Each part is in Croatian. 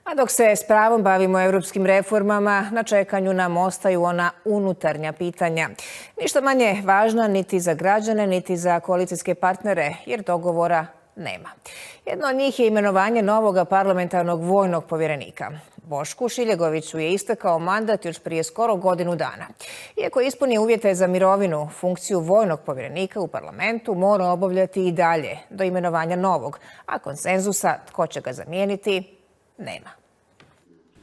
A dok se s pravom bavimo europskim reformama, na čekanju nam ostaju ona unutarnja pitanja. Ništa manje važna niti za građane, niti za koalicijske partnere, jer dogovora nema. Jedno od njih je imenovanje novog parlamentarnog vojnog povjerenika. Bošku Šiljegoviću je istekao mandat još prije skoro godinu dana. Iako ispunio uvjete za mirovinu, funkciju vojnog povjerenika u parlamentu mora obavljati i dalje do imenovanja novog, a konsenzusa tko će ga zamijeniti nema.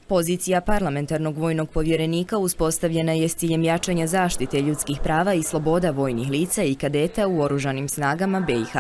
Pozicija parlamentarnog vojnog povjerenika uspostavljena je s ciljem jačanja zaštite ljudskih prava i sloboda vojnih lica i kadeta u oružanim snagama BiH.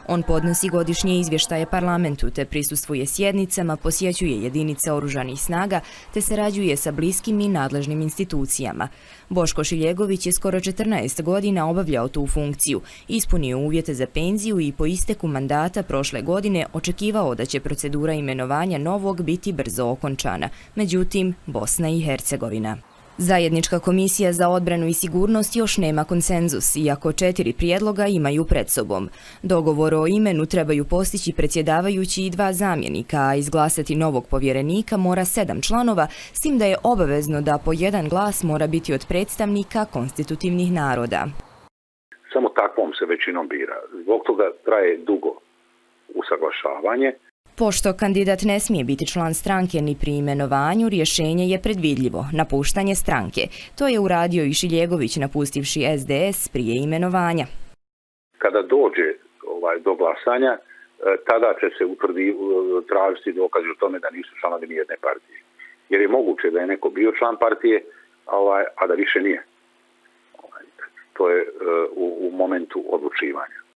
On podnosi godišnje izvještaje parlamentu te prisustvuje sjednicama, posjećuje jedinice oružanih snaga te sarađuje sa bliskim i nadležnim institucijama. Boško Šiljegović je skoro 14 godina obavljao tu funkciju, ispunio uvjete za penziju i po isteku mandata prošle godine očekivao da će procedura imenovanja novog biti brzo okončana. Međutim, Bosna i Hercegovina. Zajednička komisija za odbranu i sigurnost još nema konsenzus, iako 4 prijedloga imaju pred sobom. Dogovor o imenu trebaju postići predsjedavajući i 2 zamjenika, a izglasati novog povjerenika mora 7 članova, s tim da je obavezno da po 1 glas mora biti od predstavnika konstitutivnih naroda. Samo takvom se većinom bira. Zbog toga traje dugo usaglašavanje. Pošto kandidat ne smije biti član stranke ni pri imenovanju, rješenje je predvidljivo, napuštanje stranke. To je uradio i Šiljegović napustivši SDS prije imenovanja. Kada dođe do glasanja, tada će se tražiti dokazi o tome da nisu članovi nijedne partije. Jer je moguće da je neko bio član partije, a da više nije. To je u momentu odlučivanja.